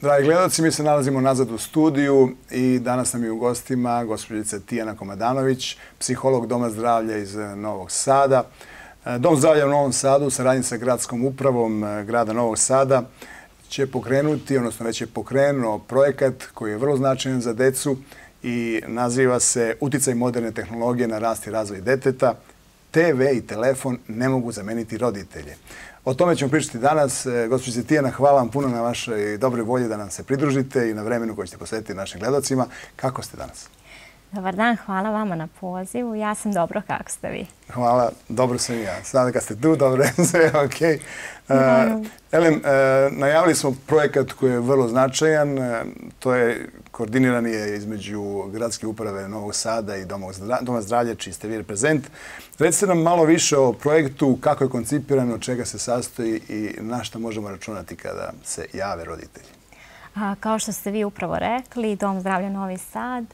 Dragi gledalci, mi se nalazimo nazad u studiju i danas nam je u gostima gospođica Tijana Komadanović, psiholog Doma zdravlja iz Novog Sada. Dom zdravlja u Novom Sadu u saradnji sa gradskom upravom grada Novog Sada će pokrenuti, odnosno već je pokrenuo projekat koji je vrlo značajan za decu i naziva se Uticaj moderne tehnologije na rast i razvoj deteta. TV i telefon ne mogu zameniti roditelje. O tome ćemo pričati danas. Gospođice Tijana, hvala vam puno na vašoj dobroj volji da nam se pridružite i na vremenu koje ćete posvetiti našim gledalcima. Kako ste danas? Dobar dan, hvala vama na pozivu. Ja sam dobro, kako ste vi? Hvala, dobro sam i ja. Sada kad ste tu, dobro je sve, okej. Elem, najavili smo projekat koji je vrlo značajan. To je koordiniran je između Gradske uprave Novog Sada i Doma zdravlja, čiji ste vi reprezent. Recite nam malo više o projektu, kako je koncipiran, od čega se sastoji i na što možemo računati kada se jave roditelji. Kao što ste vi upravo rekli, Dom zdravlja Novi Sad,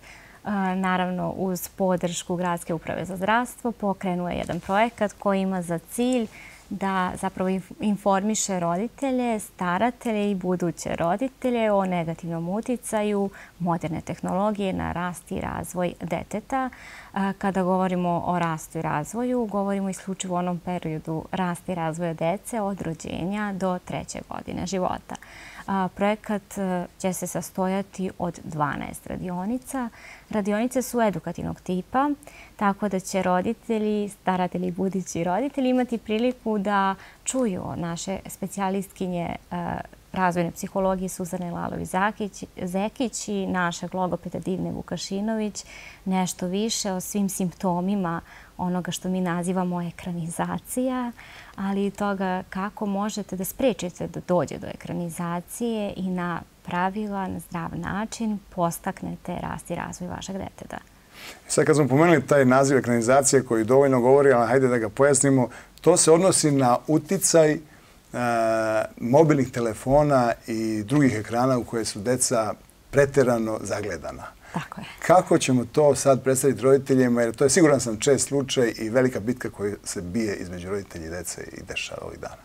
naravno uz podršku Gradske uprave za zdravstvo, pokrenuo je jedan projekat koji ima za cilj da zapravo informiše roditelje, staratelje i buduće roditelje o negativnom uticaju moderne tehnologije na rast i razvoj deteta. Kada govorimo o rastu i razvoju, govorimo isključivo o onom periodu rasta i razvoja dece od rođenja do 3. godine života. Projekat će se sastojati od 12 radionica. Radionice su edukativnog tipa, tako da će roditelji, staratelji i budući roditelji imati priliku da čuju naše specijalistkinje razvojne psihologije Suzane Lalović-Zekić i našeg logopeda Divne Vukašinović nešto više o svim simptomima onoga što mi nazivamo ekranizacija, ali i toga kako možete da sprečite da dođe do ekranizacije i na pravilan, zdrav način postaknete rast i razvoj vašeg deteta. Sad kad smo pomenuli taj naziv ekranizacije koji dovoljno govori, ali hajde da ga pojasnimo, to se odnosi na uticaj mobilnih telefona i drugih ekrana u koje su deca preterano zagledana. Tako je. Kako ćemo to sad predstaviti roditeljima, jer to je siguran sam čest slučaj i velika bitka koja se bije između roditelja i dece i dešava ovih dana.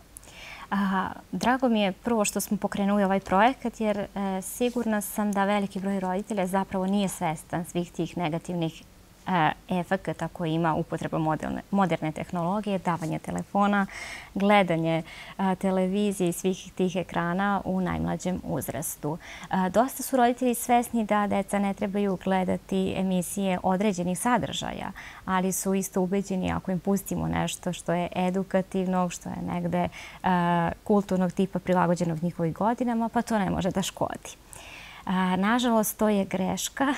Drago mi je prvo što smo pokrenuli ovaj projekat, jer sigurna sam da veliki broj roditelja zapravo nije svestan svih tih negativnih efekata koji ima upotreba moderne tehnologije, davanje telefona, gledanje televizije i svih tih ekrana u najmlađem uzrastu. Dosta su roditelji svesni da deca ne trebaju gledati emisije određenih sadržaja, ali su isto ubeđeni ako im pustimo nešto što je edukativno, što je negde kulturnog tipa prilagođenog njihovih godinama, pa to ne može da škodi. Nažalost, to je greška.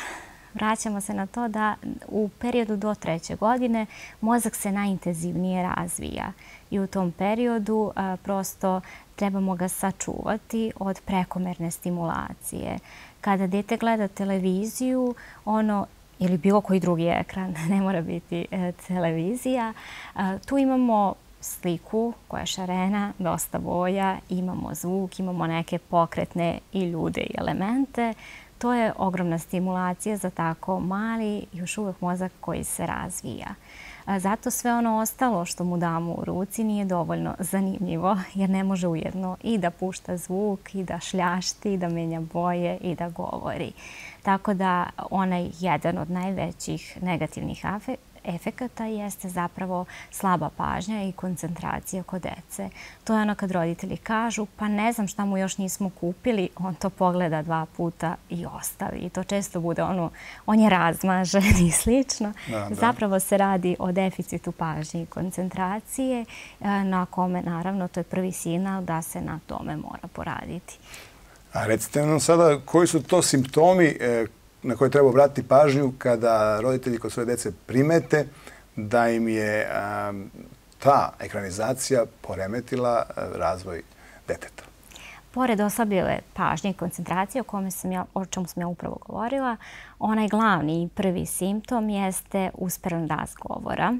Vraćamo se na to da u periodu do 3. godine mozak se najintenzivnije razvija i u tom periodu prosto trebamo ga sačuvati od prekomerne stimulacije. Kada dete gleda televiziju, ili bilo koji drugi ekran, ne mora biti televizija, tu imamo sliku koja je šarena, dosta boja, imamo zvuk, imamo neke pokretne i ljude i elemente. To je ogromna stimulacija za tako mali, još uvijek mozak koji se razvija. Zato sve ono ostalo što mu damo u ruci nije dovoljno zanimljivo, jer ne može ujedno i da pušta zvuk, i da šljašti, i da menja boje, i da govori. Tako da onaj jedan od najvećih negativnih efekata jeste zapravo slaba pažnja i koncentracija kod dece. To je ono kad roditelji kažu pa ne znam šta mu još nismo kupili, on to pogleda 2 puta i ostavi. I to često bude on je razmažen i slično. Zapravo se radi o deficitu pažnje i koncentracije na kome naravno to je prvi signal da se na tome mora poraditi. A recite nam sada koji su to simptomi na koje treba obratiti pažnju kada roditelji kod svoje dece primete da im je ta ekranizacija poremetila razvoj deteta? Pored oslabljene pažnje i koncentracije o čemu sam ja upravo govorila, onaj glavni i prvi simptom jeste usporen rast govora.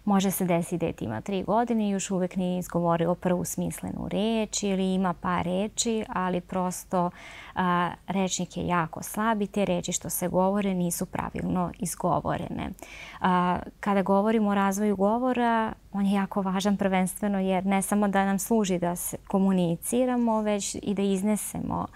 Može se desiti dete ima 3 godine i još uvijek nije izgovorilo prvu smislenu reč ili ima par reči, ali prosto rečnik je jako slab i te reči što se govore nisu pravilno izgovorene. Kada govorimo o razvoju govora, on je jako važan prvenstveno jer ne samo da nam služi da se komuniciramo, već i da iznesemo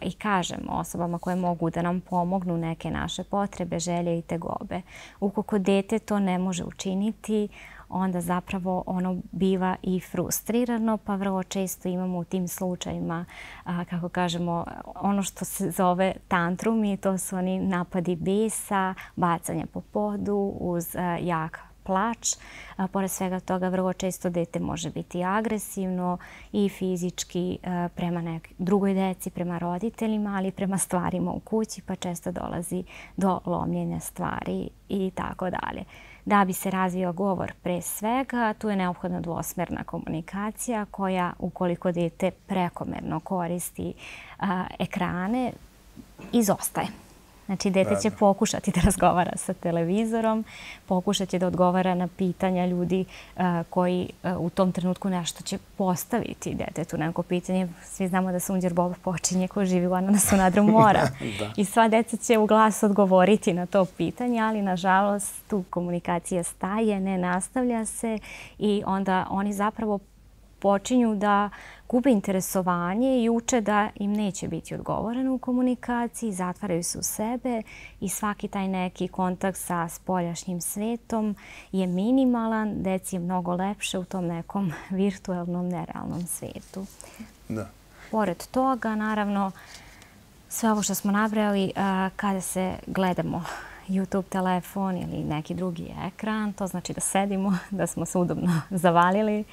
i kažemo osobama koje mogu da nam pomognu neke naše potrebe, želje i tegobe. Ukoliko dete to ne može učiniti, onda zapravo ono biva i frustrirano, pa vrlo često imamo u tim slučajima, kako kažemo, ono što se zove tantrumi, to su oni napadi besa, bacanje po podu uz jak plač. Pored svega toga, vrlo često dete može biti agresivno i fizički prema drugoj deci, prema roditeljima, ali i prema stvarima u kući, pa često dolazi do lomljenja stvari i tako dalje. Da bi se razvio govor pre svega, tu je neophodna dvosmerna komunikacija koja, ukoliko dete prekomerno koristi ekrane, izostaje. Znači, dete će pokušati da razgovara sa televizorom, pokušat će da odgovara na pitanja ljudi koji u tom trenutku nešto će postaviti detetu neko pitanje. Svi znamo da Sunđer Bob počinje ko živi u ananasu nadru mora. I sva deca će u glas odgovoriti na to pitanje, ali nažalost tu komunikacija staje, ne nastavlja se i onda oni zapravo počinju da gube interesovanje i uče da im neće biti odgovoreno u komunikaciji, zatvaraju se u sebe i svaki taj neki kontakt sa spoljašnjim svetom je minimalan, deci je mnogo lepše u tom nekom virtualnom, nerealnom svetu. Da. Pored toga, naravno, sve ovo što smo nabrali, kada se gledamo YouTube telefon ili neki drugi ekran, to znači da sedimo, da smo se udobno zavalili.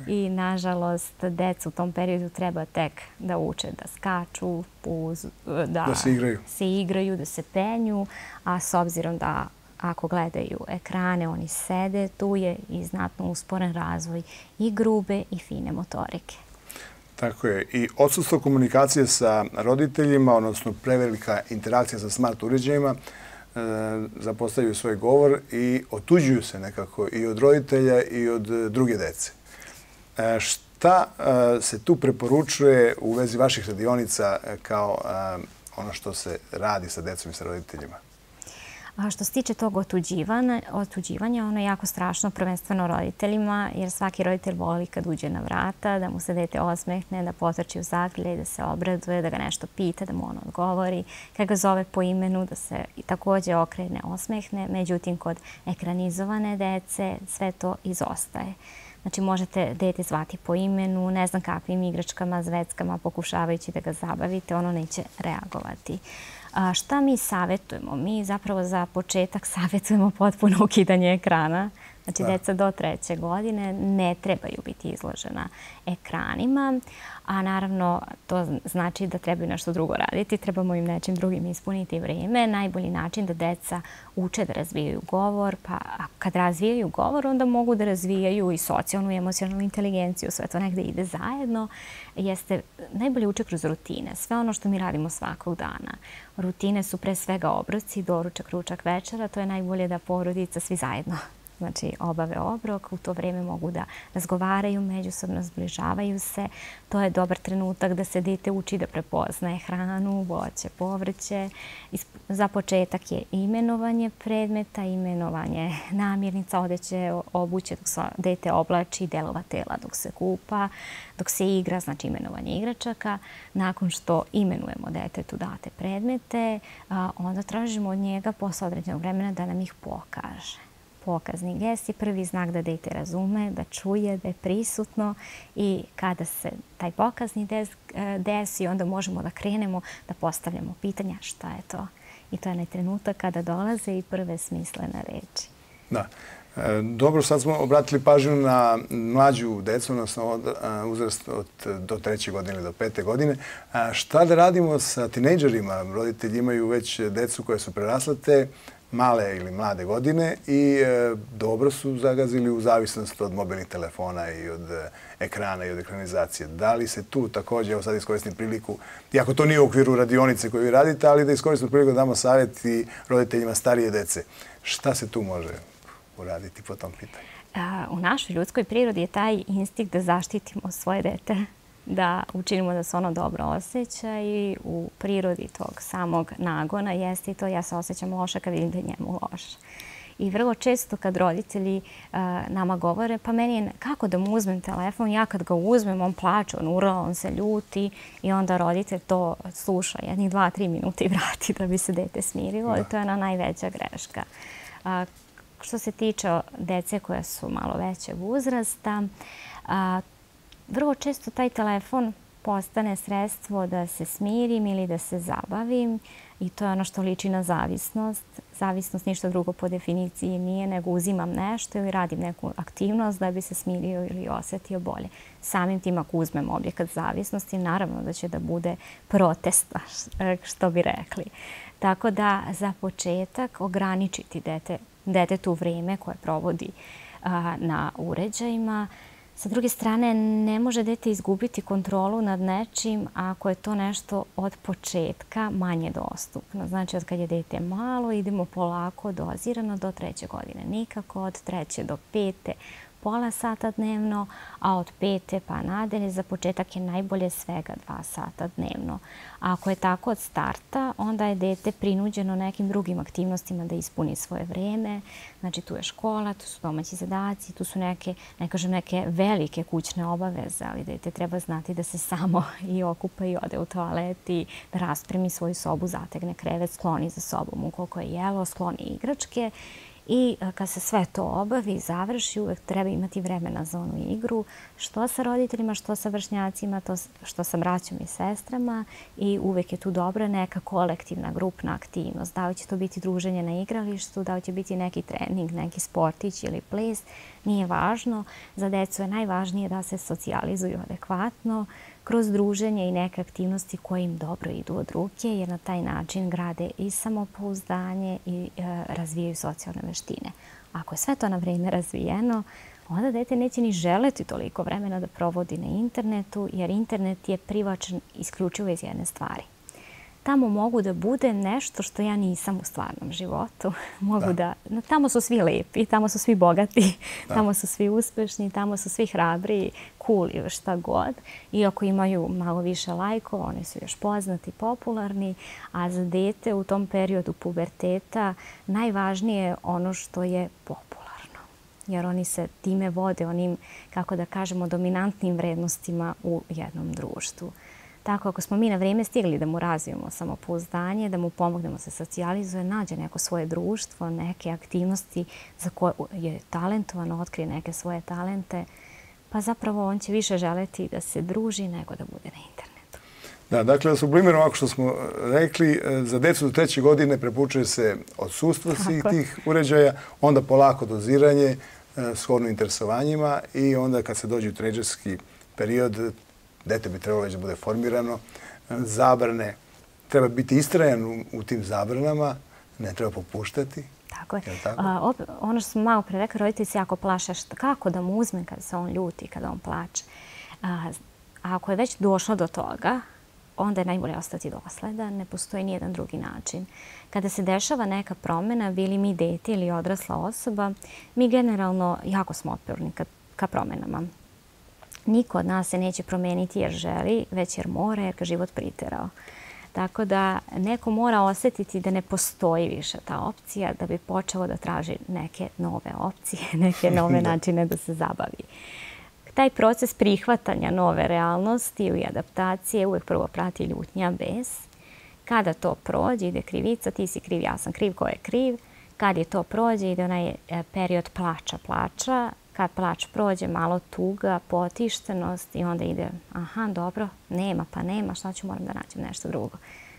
I nažalost, deca u tom periodu treba tek da uče da skaču, da se igraju, da se penju, a s obzirom da ako gledaju ekrane, oni sede, tu je i znatno usporen razvoj i grube i fine motorike. Tako je. I odsustvo komunikacije sa roditeljima, odnosno prevelika interakcija sa smart uređajima, zapostavljaju svoj govor i otuđuju se nekako i od roditelja i od druge dece. Šta se tu preporučuje u vezi vaših radionica kao ono što se radi sa decom i sa roditeljima? A što se tiče tog otuđivanja, ono je jako strašno, prvenstveno roditeljima, jer svaki roditelj voli kad uđe na vrata, da mu se dete osmehne, da potrči u zagrljaj, da se obraduje, da ga nešto pita, da mu on odgovori, kad ga zove po imenu, da se također okrene, osmehne. Međutim, kod ekranizovane dece sve to izostaje. Znači, možete dete zvati po imenu, ne znam kakvim igračkama, zveckama, pokušavajući da ga zabavite, ono neće reagovati. Šta mi savjetujemo? Mi zapravo za početak savjetujemo potpuno ukidanje ekrana. Znači, deca do 3. godine ne trebaju biti izložena ekranima, a naravno to znači da trebaju nešto drugo raditi, trebamo im nečim drugim ispuniti vrijeme. Najbolji način da deca uče da razvijaju govor, pa kad razvijaju govor, onda mogu da razvijaju i socijalnu i emocionalnu inteligenciju, sve to negde ide zajedno, jeste najbolje uče kroz rutine, sve ono što mi radimo svakog dana. Rutine su pre svega obroci, doručak, ručak, večera, to je najbolje da porodica svi zajedno obave obrok, u to vrijeme mogu da razgovaraju, međusobno zbližavaju se. To je dobar trenutak da se dete uči da prepoznaje hranu, voće, povrće. Za početak je imenovanje predmeta, imenovanje namirnica, odeće, obuće dok se dete oblači, delova tela dok se kupa, dok se igra, znači imenovanje igračaka. Nakon što imenujemo detetu date predmete, onda tražimo od njega posle određenog vremena da nam ih pokaže. Pokazni gest je prvi znak da dete razume, da čuje, da je prisutno i kada se taj pokazni desi, onda možemo da krenemo da postavljamo pitanja šta je to. I to je onaj trenutak kada dolaze i prve smislene reči. Da. Dobro, sad smo obratili pažnju na mlađu decu, odnosno uzrast do 3. godine ili do 5. godine. Šta da radimo sa tinejdžerima? Roditelji imaju već decu koje su preraslate, male ili mlade godine i dobro su zagazili u zavisnost od mobilnih telefona i od ekrana i od ekranizacije. Da li se tu također, evo sad iskoristim priliku, iako to nije u okviru radionice koju vi radite, ali da iskoristimo priliku da damo savjet i roditeljima starije dece. Šta se tu može uraditi po tom pitanju? U našoj ljudskoj prirodi je taj instinkt da zaštitimo svoje dete, da učinimo da se ono dobro osjeća i u prirodi tog samog nagona jeste i to ja se osjećam loše kad vidim da je njemu loše. I vrlo često kad roditelji nama govore, pa meni je kako da mu uzmem telefon, ja kad ga uzmem, on plače, on urla, on se ljuti i onda roditelj to sluša jednih 2-3 minuta i vrati da bi se dete smirilo i to je ona najveća greška. Što se tiče dece koja su malo većeg uzrasta, vrlo često taj telefon postane sredstvo da se smirim ili da se zabavim i to je ono što liči na zavisnost. Zavisnost ništa drugo po definiciji nije nego uzimam nešto ili radim neku aktivnost da bi se smirio ili osjetio bolje. Samim tim ako uzmem objekat zavisnosti, naravno da će da bude protesta, što bi rekli. Tako da za početak ograničiti detetu vrijeme koje provodi na uređajima. Sa druge strane, ne može dete izgubiti kontrolu nad nečim ako je to nešto od početka manje dostupno. Znači, od kad je dete malo, idemo polako, dozirano do 3. godine. Nikako od 3. do 5. pola sata dnevno, a od 5. pa nadalje za početak je najbolje svega 2 sata dnevno. A ako je tako od starta, onda je dete prinuđeno nekim drugim aktivnostima da ispuni svoje vrijeme. Znači tu je škola, tu su domaći zadaci, tu su neke velike kućne obaveze, ali dete treba znati da se samo i okupa i ode u toalet i da raspremi svoju sobu, zategne krevet, skloni za sobom ukoliko je jelo, skloni igračke. I kad se sve to obavi i završi, uvek treba imati vremena za onu igru, što sa roditeljima, što sa vršnjacima, što sa braćom i sestrama i uvek je tu dobra neka kolektivna grupna aktivnost. Da li će to biti druženje na igralištu, da li će biti neki trening, neki sportić ili ples, nije važno. Za decu je najvažnije da se socijalizuju adekvatno kroz druženje i neke aktivnosti koje im dobro idu od ruke, jer na taj način grade i samopouzdanje i razvijaju socijalne veštine. Ako je sve to na vrijeme razvijeno, onda dete neće ni želeti toliko vremena da provodi na internetu, jer internet je privlačan isključivo iz jedne stvari. Tamo mogu da bude nešto što ja nisam u stvarnom životu. Tamo su svi lepi, tamo su svi bogati, tamo su svi uspešni, tamo su svi hrabri, cool ili šta god. I ako imaju malo više lajkova, oni su još poznati, popularni. A za dete u tom periodu puberteta najvažnije je ono što je popularno. Jer oni se time vode onim, kako da kažemo, dominantnim vrednostima u jednom društvu. Tako, ako smo mi na vrijeme stigli da mu razvijemo samopouzdanje, da mu pomognemo se socijalizuje, nađe neko svoje društvo, neke aktivnosti za koje je talentovan, otkrije neke svoje talente, pa zapravo on će više želeti da se druži nego da bude na internetu. Da, dakle, da sublimiramo ovako što smo rekli, za decu do 3. godine preporučuje se odsustvo svih tih uređaja, onda polako doziranje, shodno interesovanjima i onda kad se dođe u tinejdžerski period, dete bi trebalo već da bude formirano, zabrane, treba biti istrajan u tim zabranama, ne treba popuštati. Tako je. Ono što smo malo pre rekli, roditelji se jako plaše kako da mu uzme kada se on ljuti, kada on plače. A ako je već došlo do toga, onda je najbolje ostati dosledan, ne postoji nijedan drugi način. Kada se dešava neka promjena, bili mi dete ili odrasla osoba, mi generalno jako smo otporni ka promjenama. Niko od nas se neće promijeniti jer želi, već jer mora, jer ga život priterao. Tako da neko mora osjetiti da ne postoji više ta opcija da bi počelo da traži neke nove opcije, neke nove načine da se zabavi. Taj proces prihvatanja nove realnosti ili adaptacije uvijek prvo prati ljutnja, bes. Kada to prođe, ide krivica, ti si kriv, ja sam kriv, ko je kriv. Kad je to prođe, ide onaj period plača. Kad plač prođe, malo tuga, potištenost i onda ide, aha, dobro, nema, pa nema, šta ću, moram da nađem nešto drugo.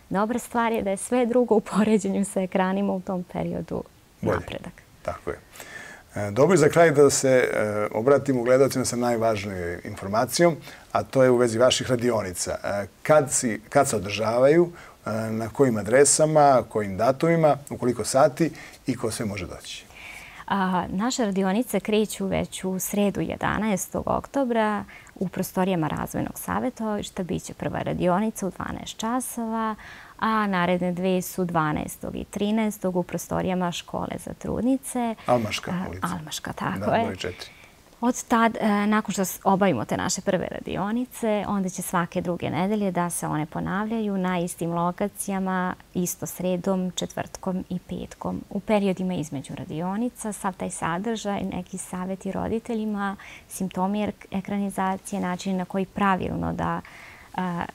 Dobra stvar je da je sve drugo u poređenju sa ekranima u tom periodu napredak. Tako je. Dobro je za kraj da se obratimo gledalcima sa najvažnijom informacijom, a to je u vezi vaših radionica. Kad se održavaju, na kojim adresama, kojim datumima, u koliko sati i ko sve može doći? Naše radionice kreću već u sredu 11. oktobra u prostorijama Razvojnog savjetovališta. Biće prva radionica u 12 časova, a naredne dve su 12. i 13. u prostorijama škole za trudnice. Almaška ulica. Almaška, tako je. Broj 4. Od tad, nakon što obavimo te naše prve radionice, onda će svake druge nedelje da se one ponavljaju na istim lokacijama, isto sredom, četvrtkom i petkom. U periodima između radionica sav taj sadržaj, neki savjeti roditeljima, simptomi ekranizacije, načini na koji pravilno da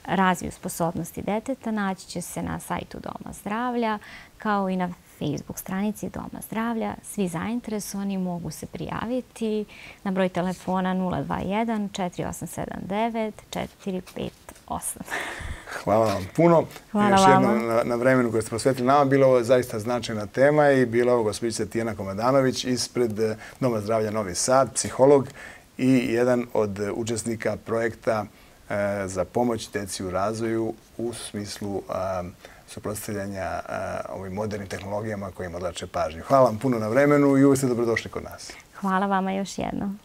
razviju sposobnosti deteta, naći će se na sajtu Doma zdravlja, kao i na Facebook stranici Doma zdravlja. Svi zainteresovani mogu se prijaviti na broj telefona 021 4879 458. Hvala vam puno. Hvala još vama. jednom na vremenu koje ste posvetili nama. Bila ovo zaista značajna tema i bila ovo gospođica Tijana Komadanović ispred Doma zdravlja Novi Sad, psiholog i jedan od učesnika projekta za pomoć deci u razvoju u smislu suprotstavljanja ovim modernim tehnologijama kojima odlače pažnju. Hvala vam puno na vremenu i uvijek ste dobrodošli kod nas. Hvala vama još jednom.